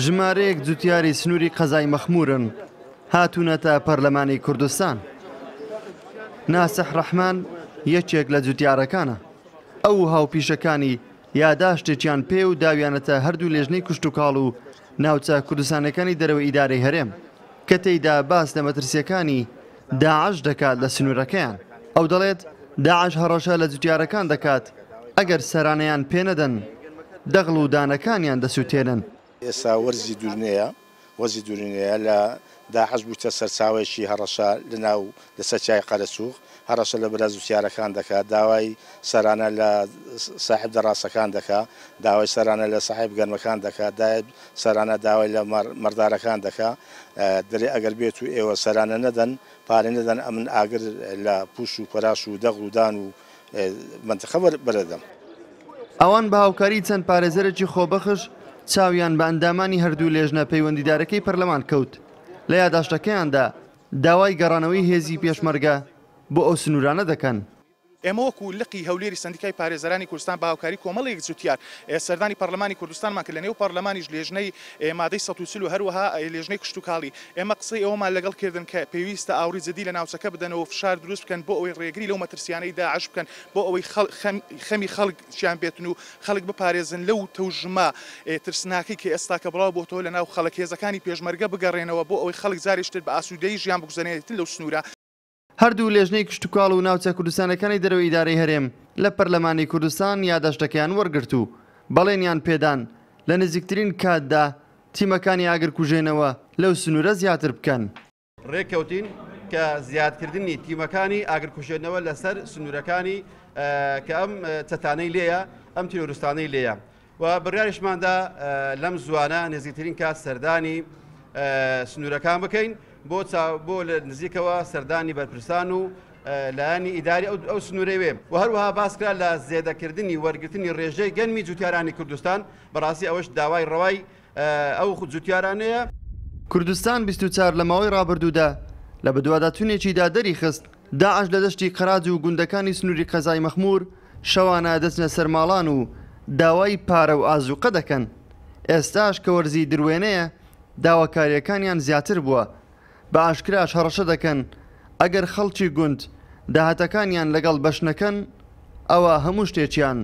ژمارەیەک جوتیاری سنووری قەزای مەخموورن هاتوونەتە پەرلەمانی کوردستان. ناسح ڕەحمان یەکێک لە جوتیارەکانە. ئەو و هاوپیشەکانی یاداشتێکیان پێ و داویانەتە هەردوو لێژنەی کشتوکاڵ و ناوچە کوردستانیەکانی دەرەوەی ئیدارەی هەرێم کە تێیدا باس لە مەترسیەکانی داعش دەکات لە سنوورەکەیان. ئەو دەڵێت، داعش هەڕەشە لە جوتیارەکان دەکات ئەگەر سەرانەیان پێنەدەن دەغڵ و دانەکانیان دەسوتێنن. ئێستا وەرزی دورنەیە، وەرزی دورینەیە لە داعش بوویتە سەرچاوەیەکی هەڕەشە لە ناو لەسەر چیای قەرەچوغ، هەڕەشە لە برا جوتیارەکان دەکات، داوای سەرانە لە ساحێب دەڕاسەکان دەکات، داوای سەرانە لە ساحێب گەنمەکان دەکات، دایب سەرانە داوای لە مەڕدارەکان دەکات، دەرێ ئەگەر بێت و ئێوە سەرانە نەدەن، پارە نەدەن ئەمن ئاگر لە پوش و پەراش و دەغڵ و دان و مەنتقە بەرەدەم. ئەوان بە هاوکاری چەند پارێزەرێکی خۆبەخش چاویان بە ئەندامانی هەردوو لێژنە پەیوەندیدارەکەی پەرلەمان کەوت، لە یاداشتەکەیاندا داوای گەڕانەوەی هێزی پێشمەرگە بۆ ئەو سنوورانە دەکەن. ئێمە وەکو لقی هەولێری سەندیکای پارێزەرانی کوردستان بە هاوکاری کۆمەڵێک جوتیار سەردانی پەرلەمانی کوردستانمان کرد، لەنێو پەرلەمانیش لێژنەی مادەی 140 و هەروەها لێژنەی کشتوکاڵی ئێمە قسەی ئەوەمان لەگەڵ کردن کە پێویستە ئاوڕی جدی لە ناوچەکە بدەنەوە و فشار دروست بکەن بۆ ئەوەی ڕێگری لەو مەترسیانەی داعش بکەن بۆ ئەوەی خەمی خەڵکیان بێتن و خەڵک بپارێزن لەو تەوژمە ترسناکەی کە ئێستاکە بڵاو بۆتەوە لەناو خەڵک، هێزەکانی پێشمەرگە بگەڕێنەوە بۆ ئەوەی خەڵک جارێکی تر بە ئاسوودەیی ژیان بگوزەرێنێتن لەو سنوورە. هەردوو لێژنەی کشتوکاڵ و ناوچە کوردستانیەکانی دەرەوەی ئیدارەی هەرێم لە پەرلەمانی کوردستان یاداشتەکەیان وەرگرت و بەڵێنیان پێدان لە نزیکترین کاتدا تیمەکانی ئاگرکوژێنەوە لەو سنوورە زیاتر بکەن. ڕێککەوتین کە زیادکردنی تیمەکانی ئاگرکوژێنەوە لەسەر سنوورەکانی کە ئەم چەتانەی لێیە، ئەم تیرۆرستانەی لێیە و بڕیاریشماندا لەم زووانە نزیکترین کات سەردانی سنوورەکان بکەین بۆ بۆ لە نزیکەوە سەردانی بەرپرسان و لایەنی ئیداری ئەو سنوورەی وێ و هەروەها باسکرا لە زێدەکردنی وەرگرتنی ڕێژەی گەنمی جوتیارانی کوردستان بەڕاستی ئەوەش داوای ڕەوای ئەو جوتیارانەیە. کوردستان 24 لە ماوەی ڕابردوودا لە بەدواداچوونێکیدا دەریخست، داعش لە دەشتی قەراج و گوندەکانی سنووری قەزای مەخموور شەوانە دەچنە سەر ماڵان و داوای پارە و ئازووقە دەکەن، ئێستاش کە وەرزی دروێنەیە داواکارییەکانیان زیاتر بووە، بە ئاشکراش هەڕەشە دەکەن ئەگەر خەڵکی گوند داهاتەکانیان لەگەڵ بەش نەکەن ئەوا هەموو شتێکیان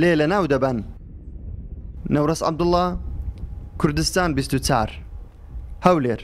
لێ لەناو دەبەن. نەورەس عەبدوڵا، کوردستان 24، هەولێر.